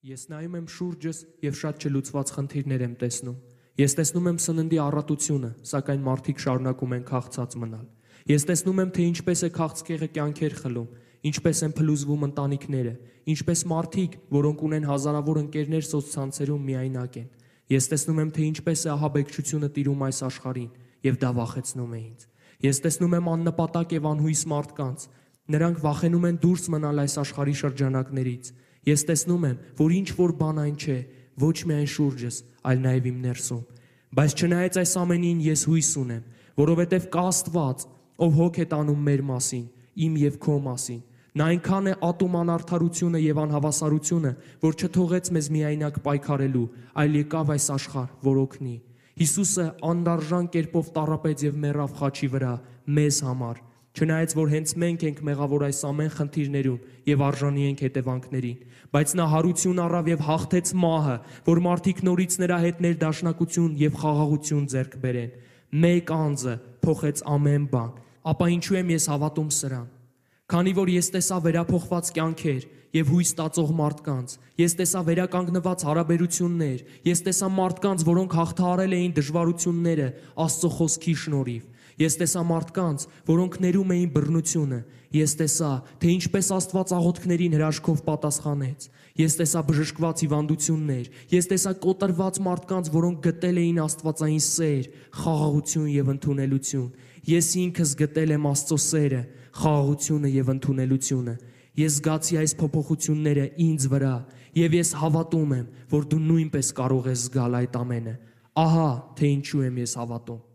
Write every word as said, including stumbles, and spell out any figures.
Ես նայում եմ շուրջս և շատ չլուծված խնդիրներ եմ տեսնում։ Ես տեսնում եմ սննդի առատությունը, սակայն մարդիկ շարունակում են քաղցած մնալ։ Ես տեսնում եմ, թե ինչպես է քաղցկեղը կյանքեր խլում, ինչպես են փլուզվում ընտանիքները, ինչպես մարդիկ, որոնք ունեն հազարավոր ընկերներ սոցցանցերում, միայնակ են։ Ես տեսնում եմ, թե ինչպես է ահաբեկչությունը տիրում այս աշխարհին, և դա վախեցնում է ինձ։ Ես տեսնում եմ աննպատակ և անհույս մարդկանց։ Նրանք վախենում են դուրս մնալ այս աշխարհի շրջանակներից։ Ես տեսնում եմ, որ ինչ-որ բան այն չէ, ոչ միայն շուրջս, այլ նաև իմ ներսում։ Բայց չնայած այս ամենին, ես հույս ունեմ, որովհետև կա Աստված, ով հոգ է տանում մեր մասին, իմ և քո մասին։ Նա այնքան է ատում անարդարությունը և անհավասարությունը, որ չթողեց մեզ միայնակ պայքարելու, այլ եկավ այս աշխարհ, որ օգնի։ Հիսուսը անդարժան կերպով տառապեց և մեռավ խաչի վրա մեզ համար։ Չնայած որ հենց մենք ենք մեղավոր այս ամեն խնդիրներում և արժանի ենք հետևանքներին, բայց նա հարություն առավ և հաղթեց մահը, որ մարդիկ նորից նրա հետ ներդաշնակություն և խաղաղություն ձեռք բերեն։ Մեկ անձը փոխեց ամեն բան։ Ապա ինչու եմ ես հավատում սրան։ Քանի որ ես տեսա վերափոխված կյանքեր և հույս տածող մարդկանց, ես տեսա վերականգնված հարաբերություններ, ես տեսա մարդկանց, որոնք հաղթահարել էին դժվարությունները Աստծո խոսքի շնորհիվ։ Ես տեսա մարդկանց, որոնք ներում էին բռնությունը։ Ես տեսա, թե ինչպես Աստված աղոթքներին հրաշքով պատասխանեց։ Ես տեսա բժշկված հիվանդություններ։ Ես տեսա կոտրված մարդկանց, որոնք գտել էին աստվածային սեր, խաղաղություն և ընդունելություն։ Ես ինքս գտել եմ Աստծո սերը, խաղաղությունը և ընդունելությունը։ Ես զգացի այս փոփոխությունները ինձ վրա, և ես հավատում եմ, որ դու նույնպես կարող ես զգալ այդ ամենը։ Ահա թե ինչու եմ ես հավատում։